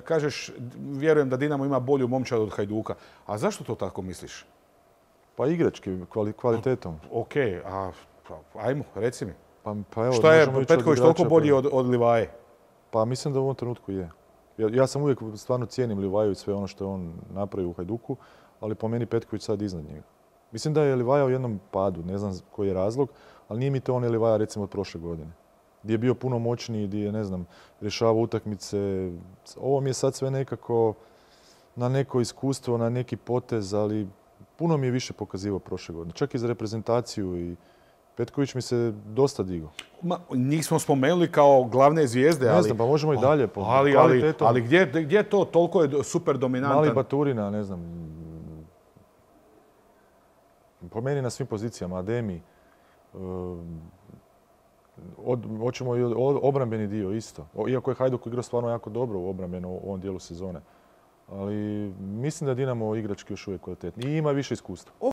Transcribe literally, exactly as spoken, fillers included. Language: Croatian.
kažeš, vjerujem da Dinamo ima bolju momčad od Hajduka. A zašto to tako misliš? Pa igrački, kvalitetom. Ok, a ajmo, reci mi. Pa, pa evo, što je Petković toliko bolji od, od Livaje? Pa mislim da u ovom trenutku je. Ja, ja sam uvijek stvarno cijenim Livaju i sve ono što je on napravio u Hajduku, ali po meni Petković sad iznad njega. Mislim da je Livaja u jednom padu, ne znam koji je razlog, ali nije mi to on Livaja recimo od prošle godine. Gdje je bio puno moćniji, gdje je, ne znam, rješavao utakmice. Ovo mi je sad sve nekako na neko iskustvo, na neki potez, ali puno mi je više pokazivao prošle godine. Čak i za reprezentaciju i Petković mi se dosta digao. Ma, njih smo spomenuli kao glavne zvijezde, ali... Ne znam, pa možemo i dalje. Po ali, ali, ali gdje, gdje to toliko je super dominantan? Mali Baturina, ne znam. Po meni na svim pozicijama, Ademi. Od, hoćemo i obrambeni dio isto. Iako je Hajduk igrao stvarno jako dobro u obrambenu u ovom dijelu sezone. Ali mislim da Dinamo igrački još uvijek kvalitetni. I ima više iskustva.